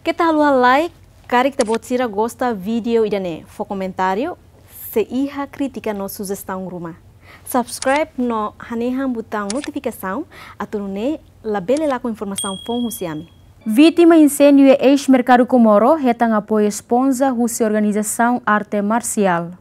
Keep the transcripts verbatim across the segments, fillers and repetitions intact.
Keta haluha like, karik ita-boot sira gosta vídeo ida-ne'e, fó komentáriu, sei iha krítika no sujestaun ruma. Subscribe no hanehan butaun notifikasaun, atu nune'e labele lakon informasaun foun husi ami. Vítima inséndiu iha eis-merkadu Comoro hetan apoiu esponja husi organizasaun arte marsiál.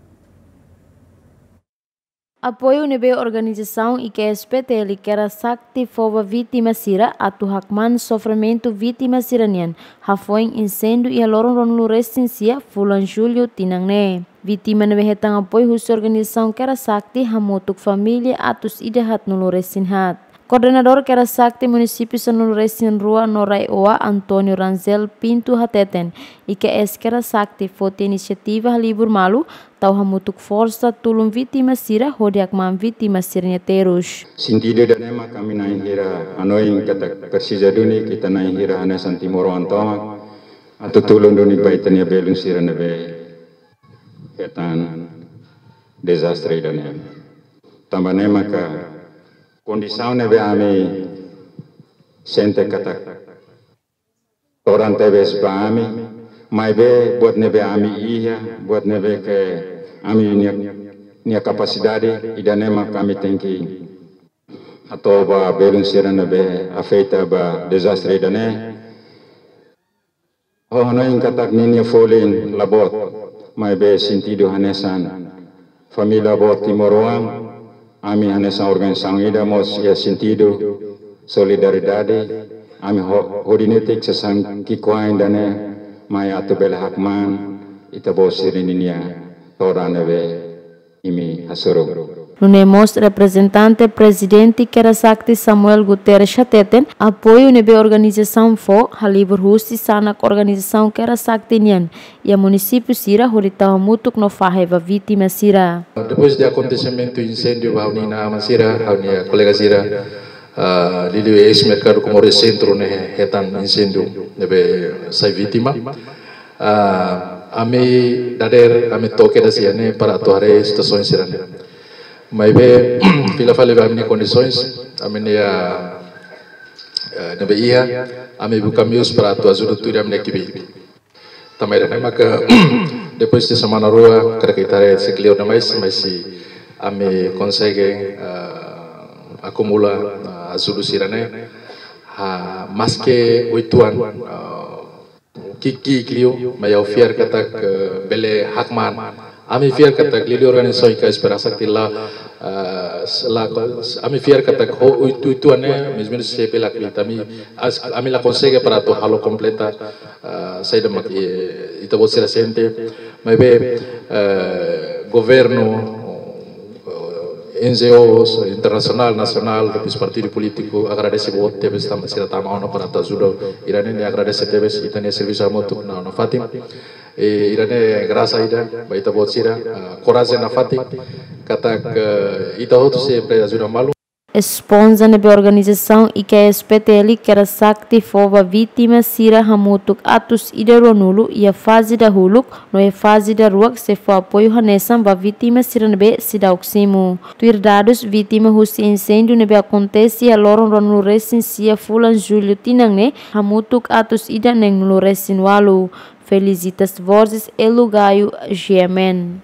Apoiu ne'ebé organizasaun I K S P T L Kera Sakti fó ba vítima sira atu hakmaan sofrimentu vítima sira-nian, hafoin inséndiu iha loron ruanulu-resin-sia fulan Jullu tinan ne'e. Vítima ne'ebé hetan apoiu husi organizasaun Kera Sakti hamutuk família atus ida haatnulu-resin haat. Koordenadór Kera Sakti Munisípiu sanulu-resin-rua no RAEOA, António Rangel Pinto, hateten, I K S Kera Sakti foti inisiativa halibur malu, tau hamutuk forsa tulun vítima sira hodi hakmaan vítima sira-nia terus. Sentidu ida-ne'e mak ami na'in hira hanoin katak presiza duni ita na'in hira hanesan timoroan tomak atu tulun duni ba ita-nia belun sira ne'ebé hetan dezastre ida-ne'e. Tanba ne'e maka kondisaun ne'ebé ami sente katak todan tebes ba ami, maibé buat ne'ebé ami iha, buat ne'ebé ke ami-nia, nia kapasidade, ida-ne'e mak ami tenke hato'o ba belun sira ne'ebé afeta ba dezastre ida-ne'e. Ho hanoin katak ninia folin la boot, maibé sentidu hanesan família boot timoroan, ami hanesan organizasaun ida mós iha sentidu solidariedade, ami ho-, hodi netik sasán ki'ikoan ida-ne'e mai atu bele hakmaan ita-boot sira-ninia todan ne'ebé imi hasoru. Nune'e mós reprezentante Prezidente Kera Sakti Samuel Guterres hateten, apoiu ne'ebé organizasaun fó halibur husi sanak organizasaun Kera Sakti nian iha munisípiu sira hodi tau hamutuk no fahe ba vítima sira. Depois de akontesimentu inséndiu ba ha'u-nia inan-aman sira, ha'u-nia kolega sira, ah, liuliu eis-merkadu Comoro Centro ne'e hetan inséndiu ne'ebé sai vítima. Ah, ami dadeer, ami to'o kedas iha ne'e para atu haree situasaun sira-ne'e. Maibé, fila fali ba ami-nia kondisaun, ami-nia, eh, ne'ebé iha, ami buka meius para atu ajuda tuir ami-nia ekipe. Tanba ida-ne'e maka, depois de semana rua, karik ita haree sei kleur demais, mas ami konsege, eh, akumula, eh, ajuda sira-ne'e, ha, maske oituan, eh, ki'ik-ki'ik liu, maibé ha'u fiar katak, eh, bele hakmaan. Ami fiar katak liuliu organizasaun I K S Kera Sakti la, eh, la, ami fiar katak ho oituan ne'e, mais menus sei bele kleur, ami, as-, ami la konsege para atu halo kompleta, eh, saida mak, eh, ita-boot sira sente. Maibé, eh, governu, eh, N G Os internasionál, nasionál, depois partidu polítiku, agradese boot tebes tanba sira tama ona para atu ajuda. Ida-ne'e ne'e agradese tebes, ita-nia servisu hamutuk ona nafatin. E ida-ne'e grasa ida ba ita-boot sira, ah, korajen nafatin, katak, eh, ita hotu sei bele ajuda malu. Esponja ne'ebé organizasaun I K S P T L Kera Sakti fó ba vítima sira hamutuk atus ida ruanulu iha faze dahuluk, no iha faze daruak sei fó apoiu hanesan ba vítima sira ne'ebé seidauk simu. Tuir dadus, vítima husi inséndiu ne'ebé akontese iha loron ruanulu-resin-sia fulan Jullu tinan ne'e hamutuk atus ida neenulu-resin-ualu. Felicitas Borges, Elu Gaio, G M N.